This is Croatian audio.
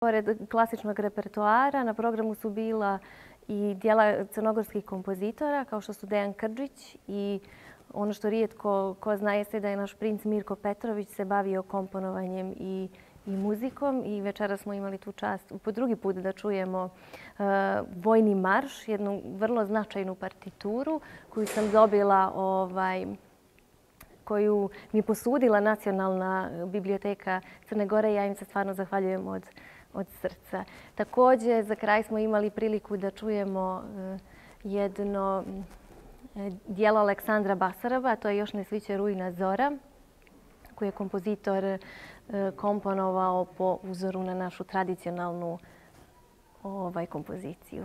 Pored klasičnog repertoara na programu su bila i dijela crnogorskih kompozitora kao što su Dejan Krdžić i ono što rijetko ko zna jeste da je naš princ Mirko Petrović se bavio komponovanjem i muzikom i večeras smo imali tu čast po drugi put da čujemo Vojni marš, jednu vrlo značajnu partituru koju sam dobila, koju mi je posudila Nacionalna biblioteka Crne Gore i ja im se stvarno zahvaljujem od srca. Također, za kraj smo imali priliku da čujemo jedno dijelo Aleksandra Basaraba, a to je Još ne sviće rujna zora, koji je kompozitor komponovao po uzoru na našu tradicionalnu kompoziciju.